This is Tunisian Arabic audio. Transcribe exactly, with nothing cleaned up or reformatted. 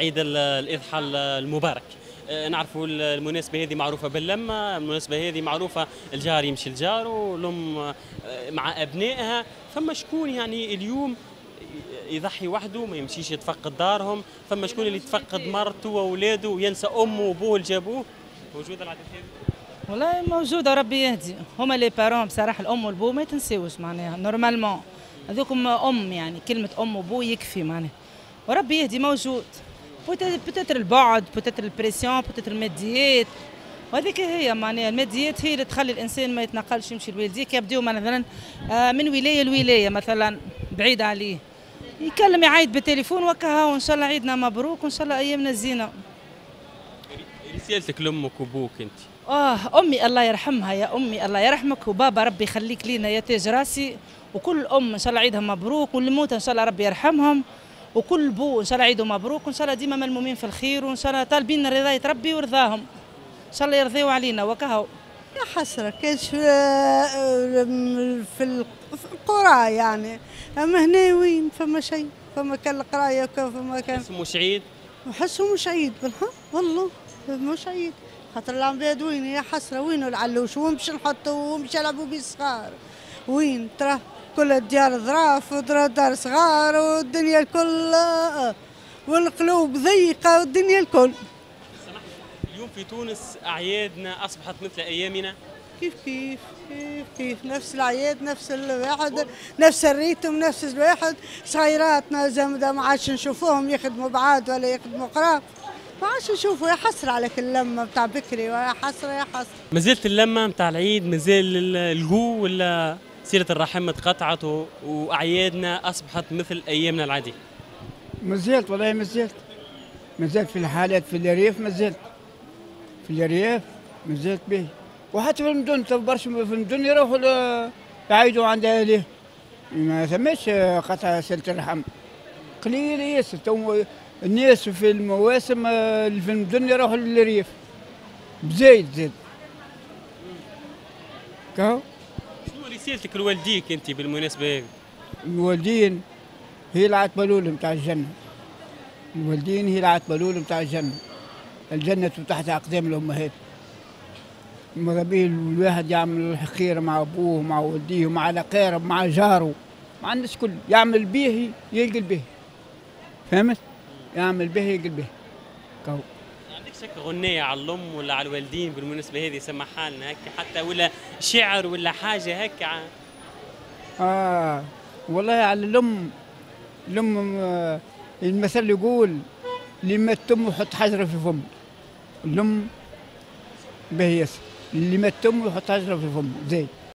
عيد الاضحى المبارك. نعرفوا المناسبة هذه معروفة باللمه، المناسبة هذه معروفة الجار يمشي لجاره والام مع ابنائها، فما شكون يعني اليوم يضحي وحده ما يمشيش يتفقد دارهم، فما شكون اللي يتفقد مرته واولاده وينسى امه وابوه اللي جابوه. موجودة العادات هذه؟ والله موجودة، ربي يهدي. هما les parents بصراحة الام والبو ما يتنساوش معناها normalement، هذوكم ام يعني كلمة ام وبو يكفي معناها، وربي يهدي. موجود peut-être البعد، peut-être ال pression، peut-être الماديات، وهذيك هي معناها الماديات هي اللي تخلي الانسان ما يتنقلش يمشي لوالديه. يبداو مثلا من ولاية لولاية مثلا بعيد عليه، يكلم يعيط بالتليفون وكها، وان شاء الله عيدنا مبروك وان شاء الله ايامنا زينة. رسالتك لامك وابوك انت؟ اه امي الله يرحمها، يا امي الله يرحمك، وبابا ربي يخليك لينا يا تاج راسي، وكل ام ان شاء الله عيدها مبروك، واللي موت ان شاء الله ربي يرحمهم، وكل بو ان شاء الله عيده مبروك، وان شاء الله ديما ملمومين في الخير، وان شاء الله طالبين رضايه ربي ورضاهم، ان شاء الله يرضيوا علينا وكهو. يا حسرة كانش في في القرى يعني، اما هنا وين فما شيء، فما كان القراية فما كان مش عيد، وحسه مش عيد بالحق والله مش عيد، خاطر العباد وين يا حسرة، وين العلوش، وين باش نحطوا، وين باش يلعبوا بيه الصغار، وين ترى كل الديار ظراف ودار صغار والدنيا الكل والقلوب ضيقه والدنيا الكل. اليوم في تونس اعيادنا اصبحت مثل ايامنا؟ كيف كيف كيف كيف، نفس الاعياد، نفس الواحد، نفس ال rythme، نفس الواحد. صغيراتنا زمدة ما عادش نشوفوهم يخدموا بعاد ولا يخدموا قراب، ما عادش نشوفوا. يا حسرة على كل اللمة نتاع بكري، ويا حسرة يا حسرة. مازالت اللمة نتاع العيد، مازال الجو، ولا سيره الرحم اتقطعت واعيادنا اصبحت مثل ايامنا العادية؟ مازالت والله، مازالت مازالت في الحالات في الريف، مازالت في الريف مازالت به، وحتى في المدن برشا في المدن يروحوا يعيدوا عند اهلهم، ما ثماش قطع سلة الرحم، قليل ياسر. تو الناس في المواسم في المدن يروحوا للريف بزايد زاد. كهو. شنو رسالتك لوالديك انت بالمناسبة هذه؟ الوالدين هي العتبة الأولى نتاع الجنة. الوالدين هي العتبة الأولى نتاع الجنة. الجنة تحت أقدام الأمهات. ماذا به الواحد يعمل الخير مع أبوه مع والديه مع الأقارب مع جاره مع الناس كل، يعمل به يلقى به. فهمت؟ يعمل به يلقى به. كهو. عندك شك غنية على الأم ولا على الوالدين بالمناسبة هذه سمعها لنا هكا حتى، ولا شعر ولا حاجة هكا؟ آه والله على الأم، الأم المثل يقول اللي مات أمه يحط حجرة في فمه. الأم باهي ياسر، اللي مات أمه يحط حجرة في فمه زايد.